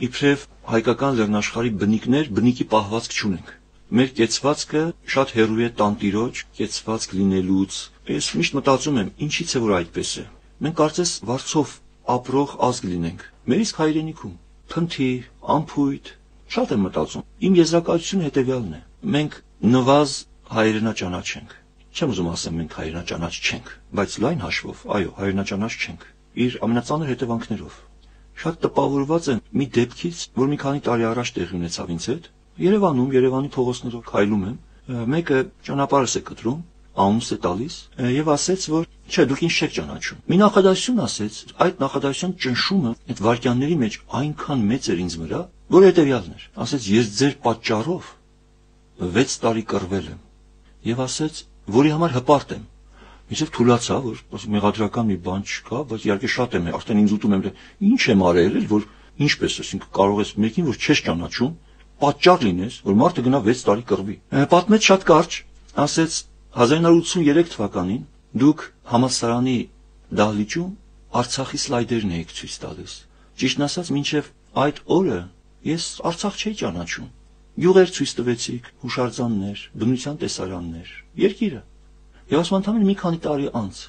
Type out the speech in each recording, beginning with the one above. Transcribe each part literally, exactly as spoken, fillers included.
իբրև հայկական լեռնաշխարհի բնիկներ բնիկի պահվածք չունենք։ Մեր կեցվածքը շատ հեռու է տանտիրոջ կեցվածք լինելուց։ Ես միշտ մտածում եմ, ինչի՞ց է որ այդպես է։ Մենք կարծես վարձով ապրող ազգ լինենք։ Մեր իսկ հայրենիքում փնթի, ամփույթ, շատ եմ մտածում։ Իմ եզրակացությունը հետևյալն է. մենք նվազ հայրենաճանաչ ենք։ Չեմ ուզում ասեմ մենք հայրենաճանաչ չենք, բայց լայն հաշվով, այո, հայրենաճանաչ չենք։ Իր ամենածանր հետևանքներով։ Շատ տպավորված եմ մի դեպքից, որ մի քանի տարի առաջ տեղի ունեցավ ինձ հետ։ Երևանում, Երևանի փողոցներով քայլում եմ, մեկը ճանապարհս է կտրում, անունս է տալիս եւ ասեց, որ չէ, դուք ինձ չեք ճանաչում։ Մի նախադասություն ասեց, այդ նախադասության ճնշումը այդ վարքյանների մեջ այնքան մեծ էր ինձ վրա, որ հետեւյալն էր։ Ասեց, ես ձեր պատճառով վեց տարի կռվել եմ եւ ասեց, որի համար հպարտ եմ։ Ինչեւ թուլացա, որ մեղադրական մի բան չկա, բայց իհարկե շատ եմ, արդեն ինձ ուտում եմ, ինչ եմ արել, որ ինչպես ասենք կարող ես մեկին, որ չես ճանաչում, պատճառ լինես, որ մարդը գնա վեց տարի կռվի։ Պատմեց շատ կարճ, ասեց հազար իննսուն ութսունութերեք թվականին դուք համալսարանի դահլիճում Արցախի սլայդերն եք ցույց տալիս։ Ճիշտն ասած, մինչև այդ օրը ես Արցախ չէի ճանաչում։ Գյուղեր ցույց տվեցիք, հուշարձաններ, բնության տեսարաններ, երկիրը։ Եվ ասում ընդհանրապես մի քանի տարի անց,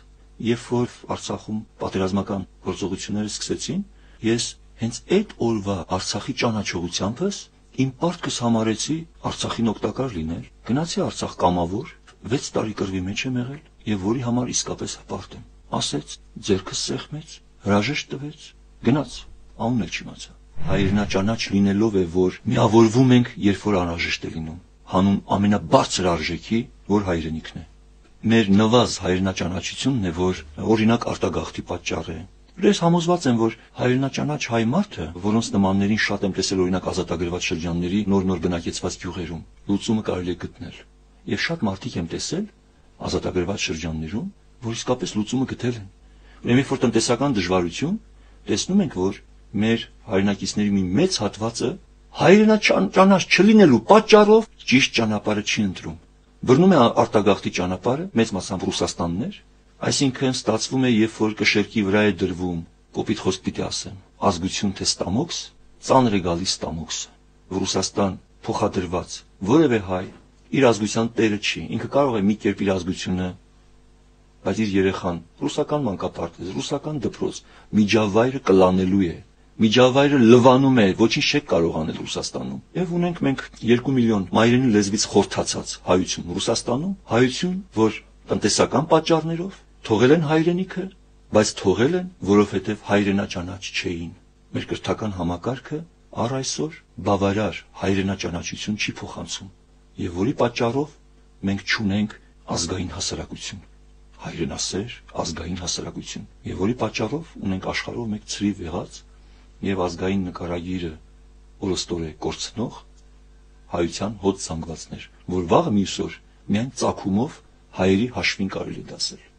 երբ որ Արցախում պատերազմական գործողությունները սկսեցին, ես հենց այդ օրվա Արցախի ճանաչողությանս իմ պարտքս համարեցի Արցախին օգտակար լինել, գնացի Արցախ կամավոր, վեց տարի կռվի մեջ եմ եղել եւ որի համար իսկապես հպարտ եմ։ Ասեց, ձերքս սեղմեց, հրաժեշտ տվեց, գնաց, անուն էլ չիմացա։ Հայրենաճանաչ լինելով է, որ միավորվում ենք, երբ որ անհրաժեշտ է լինում, հանուն ամենաբարձր արժեքի, որ հայրենիքն է։ Մեր նվազ հայրենաճանաչությունն է, որ օրինակ արտագաղթի պատճառ է։ Ես համոզված եմ, որ հայրենաճանաչ հայ մարդը, որոնց նմաններին շատ եմ տեսել օրինակ ազատագրված շրջանների նոր-նոր բնակեցված գյուղերում, լուծումը կարելի է գտնել։ Եվ շատ մարդիկ եմ տեսել ազատագրված շրջաններում, որ իսկապես լուծումը գտել են։ Ուրեմն երբ որ տնտեսական դժվարություն, տեսնում ենք, որ մեր հայրենակիցների մի մեծ հատվածը հայրենաճանաչ չլինելու պատճառով ճիշտ ճանապարհը չի ընտրում։ Բռնում է արտագաղթի ճանապարհը, մեծ մասամբ Ռուսաստաններ, այսինքն ստացվում է, երբ որ կշերքի վրա է դրվում, կոպիտ խոսք պիտի ասեմ, ազգություն թե ստամոքս, ծանր է գալիս ստամոքսը։ Ռուսաստան փոխադրված որևէ հայ իր ազգության տերը չի, ինքը կարող է մի կերպ իր ազգությունը, բայց իր երեխան ռուսական մանկապարտեզ, ռուսական դպրոց, միջավայրը կլանելու է, միջավայրը լվանում է, ոչինչ չեք կարող անել Ռուսաստանում։ Եվ ունենք մենք երկու միլիոն մայրենի լեզվից խորթացած հայություն Ռուսաստանում, հայություն, որ տնտեսական պատճառներով թողել են հայրենիքը, բայց թողել են, որովհետև հայրենաճանաչ չէին։ Մեր կրթական համակարգը առ այսօր բավարար հայրենաճանաչություն չի փոխանցում, եւ որի պատճառով մենք չունենք ազգային հասարակություն, հայրենասեր ազգային հասարակություն, եւ որի պատճառով ունենք աշխարհով մեկ ցրիվ եղած եւ ազգային նկարագիրը օրոստորե կորցնող հայության հոտ զանգվածներ, որ վաղը մյուս օր միայն ծագումով հայերի հաշվին կարելի է դասել։